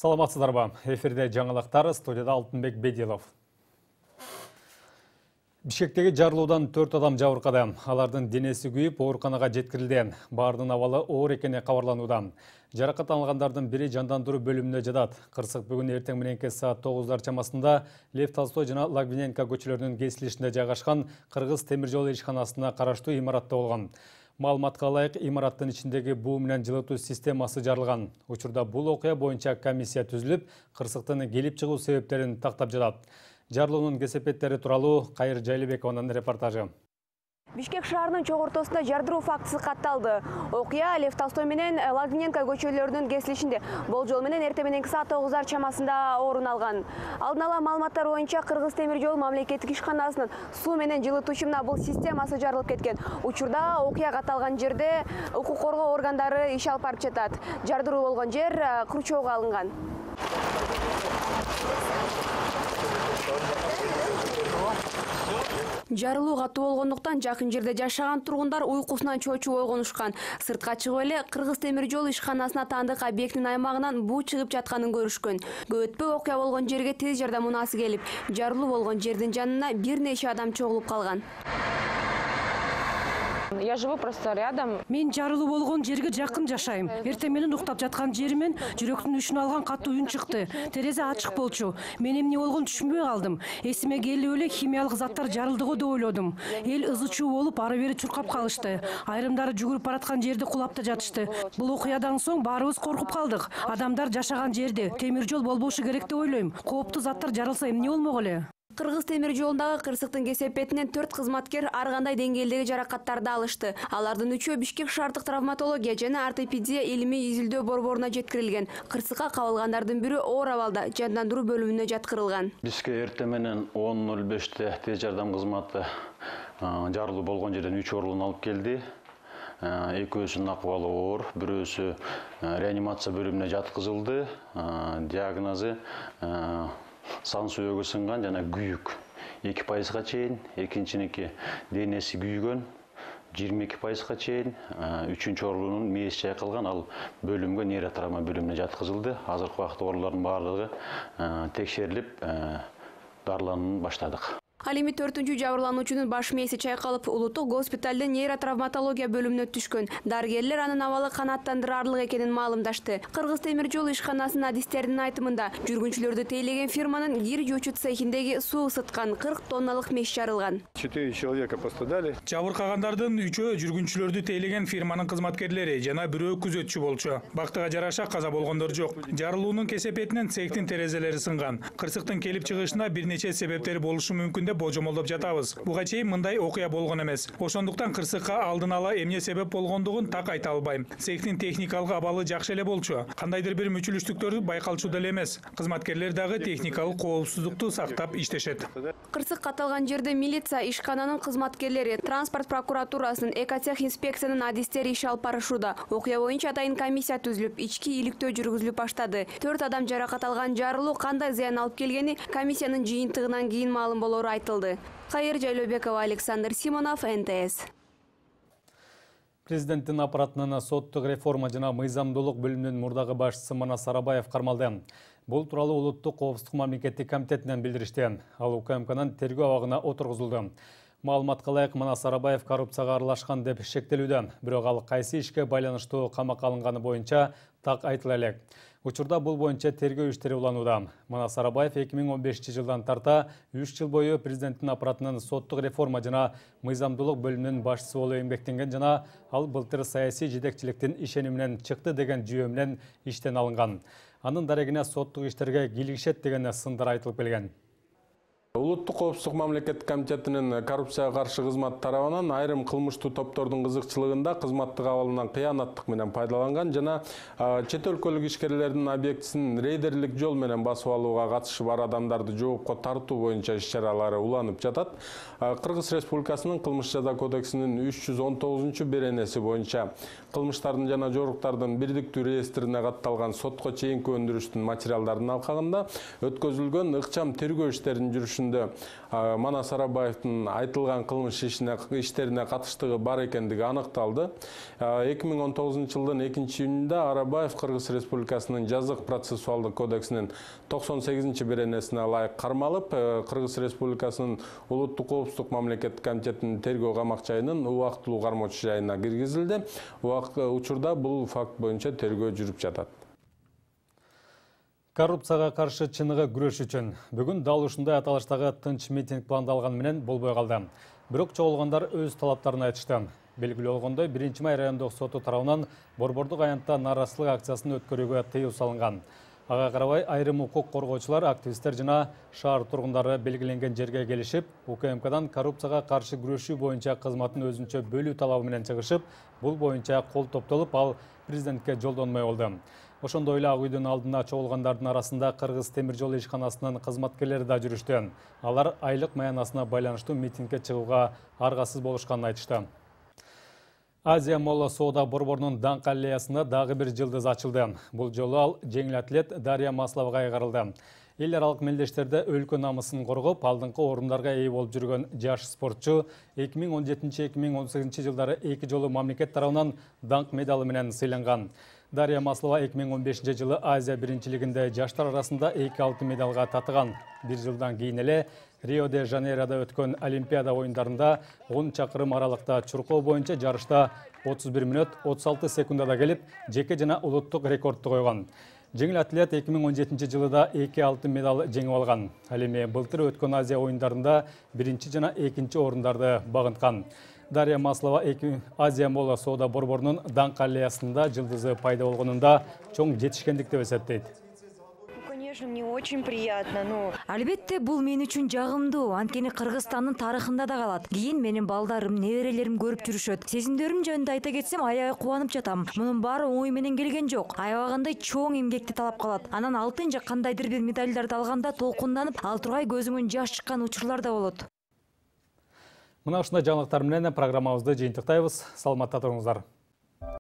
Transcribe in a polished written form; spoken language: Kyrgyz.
Саламатсыздарбы? Эфирде жаңылыктар, студияда Алтынбек Бедилов. Бишкектеги жарылуудан 4 адам жабыркады. Алардын денеси күйүп, ооруканага жеткирилди. Баардын абалы оор экени кабарланууда. Жаракат алгандардын бири жандандыруу бөлүмүнө жатат. Кырсык бүгүн эртең мененки саат 9 чамасында Лев Толстой жана Логвиненко көчөлөрүнүн кесилишинде жайгашкан Кыргыз темир жол ишканасына караштуу имаратта болгон. Маалыматка ылайык, имараттын ичиндеги буу менен жылытуу системасы жарылган. Учурда бул окуя боюнча комиссия түзүлүп, кырсыктын келип чыгуу себептерин тактап жатат. Жарылуунун кесепеттери тууралуу Кайыр Жайлыбекованын репортажы. Бишкек шаарынын чоң ортосунда жардыруу фактысы катталды. Окуя Лев Толстой менен Логвиненко көчөлөрүнүн кесилишинде болжол менен эртең мененки саат 9 чамасында орун алган. Алдын ала маалыматтар боюнча Кыргыз темир жол мамлекеттик ишканасынын суу менен жылытуучу бул системасы жарылып кеткен. Учурда окуя катталган жерде укук коргоо органдары иш алып барып жатат. Жардыруу болгон жер курчоого алынган. Жарылуу катуу болгондуктан жакын жерде жашаган тургундар уйкусунан чочуп ойгонушкан. Сыртка чыгып эле Кыргыз темир жол ишканасына таандык объекттин аймагынан буу чыгып жатканын көрүшкөн. Көп өтпөй окуя болгон жерге тез жардам унаасы келип, жарылуу болгон жердин жанына бир нече адам чогулуп калган. Я живу просто рядом. Мен жарылуу болгон жерге жакын жашайм. Эртең менен уктап жаткан жеримен жүрөктүн үшүн алган катуу үн чыкты. Терезе ачык болчу. Мен эмне болгонун түшүнбөй калдым. Эсиме келип эле химиялык заттар жарылдыго деп ойлодум. Эл ызы-чуу болуп, ары бери чуркап калышты. Айрымдары жүгүрүп бараткан жерде кулап да жатышты. Бул окуядан соң баарыбыз коркуп калдык. Адамдар жашаган жерде темир жол болбошу керек деп ойлойм. Кооптуу заттар жарылса эмне болмок эле? Кыргыз темир жолундагы кырсыктын кесепетинен 4 кызматкер ар кандай деңгээлдеги жаракаттарды алышты. Алардын 3-өө Бишкек шаардык травматология жана ортопедия илимий изилдөө борборуна жеткирилген. Кырсыкка кабылгандардын бири оор абалда жандандыруу бөлүмүнө жаткырылган. Бизге эртең менен 10:05 тез жардам кызматы жарылуу болгон жерден 3 оорулууну алып келди. Экөөсүнүн акыбалы оор, бирөөсү реанимация бөлүмүнө жаткызылды. Диагнозу сан сүйөгү сынган жана күйүк 2%га чейин, экинчиники денеси күйгөн 22%га чейин, үчүнчү оорулуунун мээси чайкалган, ал бөлүмгө нейротравма бөлүмүнө жаткызылды. Азыркы убакытта оорулардын баардыгы текшерилип, дарыланууну баштадык. Ал эми 4-үнчү жабырлануучунун баш мээси чайкалып, улуттук госпиталдын нейротравматология бөлүмүнө түшкөн. Дарыгерлер анын абалы канааттандырарлык экенин маалымдашты. Кыргыз темир жол ишканасынын адистеринин айтымында, жүргүнчүлөрдү тейлеген фирманын кир жуучу цехиндеги суу ысыткан 40 тонналык меш жарылган. 4 человека пострадали. Жабыркагандардын 3-өө жүргүнчүлөрдү тейлеген фирманын кызматкерлери жана бирөө күзөтчү болчу. Бактыга жараша каза болгондор жок. Жарылуунун кесепетинен цехтин терезелери сынган. Кырсыктын келип чыгышына бир нече себептери болушу мүмкүн божомолдоп жатабыз. Буга чейин мындай окуя болгон эмес. Ошондуктан кырсыкка алдын ала эмне себеп болгондугун так айта албайм. Цехтин техникалык абалы жакшы эле болчу. Кандайдыр бир мүчүлүштүктөр байкалчу деле эмес. Кызматкерлер дагы техникалык коопсуздукту сактап иштешет. Кырсык катталган жерде милиция, ишкананын кызматкерлери, транспорт прокуратурасынын, экотех инспекциянын адистери иш алып барышууда. Окуя боюнча атайын комиссия түзүлүп, ички иликтөө жүргүзүлүп баштады. 4 адам жаракат алган жарылуу кандай зыян алып келгени комиссиянын жыйынтыгынан кийин маалым болору айтылды. Кайыр Жайлыбекова, Александр Симонов, НТС. Президенттин аппаратынын соттук реформа жана мыйзамдуулук бөлүмүнүн мурдагы башчысы Манас Арабаев кармалды. Бул тууралуу Улуттук коопсуздук мамлекеттик комитетинен билдиришти. Ал УКМКнын тергөө абагына отургузулду. Маалыматка ылайык, Манас Арабаев коррупцияга аралашкан деп шектелүүдө, бирок ал кайсы ишке байланыштуу камакка алынганы боюнча так айтыла элек. Учурда бул боюнча тергөө иштери уланууда. Манас Арабаев 2015-жылдан тарта 3 жыл бою президенттин аппаратынын соттук реформа жана мыйзамдуулук бөлүмүнүн башчысы болуп эмгектенген жана ал былтыр саясий жетекчиликтин ишениминен чыкты деген жүйө менен иштен алынган. Анын дарегине соттук иштерге кийлигишет деген сындар айтылып келген. Улуттук коопсуздук мамлекеттик комитетинин коррупцияга каршы кызмат тарабынан айрым кылмыштуу топтордун кызыкчылыгында кызматтык абалынан кыянаттык менен пайдаланган жана чет өлкөлүк ишкерлердин объектисин рейдерлик жол менен басып алууга катышы бар адамдарды жоопко тартуу боюнча иш-чаралары уланып жатат. Кыргыз Республикасынын кылмыш жаза кодексинин 319-беренеси боюнча кылмыштардын жана жоруктардын бирдиктүү реестрине катталган сотко чейинки өндүрүштүн материалдарынын алкагында өткөзүлгөн ыкчам тергөө иштеринин жүрүшүн тергөөсүндө Манас Арабаевдин айтылган кылмыш иштерине катыштыгы бар экендиги аныкталды. 2019 жылдын 2-июнунда Арабаев Кыргыз Республикасынын жазык процессуалдык кодексинин 98-беренесине ылайык кармалып, Кыргыз Республикасынын улуттук коопсуздук мамлекеттик комитетинин тергөө камак жайынын убактылуу кармоочу жайына киргизилди. Учурда бул факт боюнча тергөө жүрүп жатат. Коррупцияга каршы чыныгы күрөш үчүн бүгүн дал ушундай аталыштагы тынч митинг пландалган менен болбой калды. Бирок чогулгандар өз талаптарын айтышты. Белгилүү болгондой, 1-май райондук соту тарабынан борбордук аянтта нааразычылык акциясын өткөрүүгө тыюу салынган. Ага карабай айрым укук коргоочулар, активисттер жана шаар тургундары белгиленген жерге келишип, УКМКдан коррупцияга каршы күрөшүү боюнча кызматын өзүнчө бөлүү талабы менен чыгышып, бул боюнча кол топтолуп, ал президентке жолдонмой болду. Ошондой эле Ак үйдүн алдына чогулгандардын арасында Кыргыз темир жол ишканасынын кызматкерлери да жүрүштү. Алар айлык маянасына байланыштуу митингге чыгууга аргасыз болушканын айтышты. Азия Молла соода борборунун даңк аллеясында дагы бир жылдыз ачылды. Бул жолу ал жеңил атлет Дарья Масловага кайгарылды. Эл аралык мелдештерде өлкө намысын коргоп, алдыңкы орундарга ээ болуп жүргөн жаш спортчу 2017-2018 жылдары 2 жолу мамлекет тарабынан даңк медалы менен сыйланган. Дарья Маслова 2015 жылы Азия биринчилигинде жаштар арасында 2 алтын медалга татыган. Бир жылдан кийин эле Рио-де-Жанейрода өткөн Олимпиада оюндарында 10 чакырым аралыкта чуркоо боюнча жарышта 31 мүнөт 36 секундада келип, жеке жана улуттук рекордду койгон. Жеңил атлет 2017 жылы да 2 алтын медал жеңип алган. Ал эми былтыр өткөн Азия оюндарында 1 жана 2 орундарды багынткан. Дарья Маслова Азия Молла соода борборунун даңк аллеясында жылдызы пайда болгонунда чоң жетишкендик деп эсептейт. Конечно, мне очень приятно. Албетте, бул мен үчүн жагымдуу. Анткени Кыргызстандын тарыхында да калат. Кийин менин балдарым, неберелерим көрүп жүрүшөт. Сезимдерим жөнүндө айта кетсем, аябай кубанып жатам. Мунун баары оңой менен келген жок. Аябагандай чоң эмгекти талап калат. Анан алтын же кандайдыр бир медалдарды алганда толкунданып, ал тургай көзүмөн жаш чыккан учурлар да болот. Мына ушундай жаңылыктар менен программабызды жыйынтыктайбыз. Саламатта туруңуздар.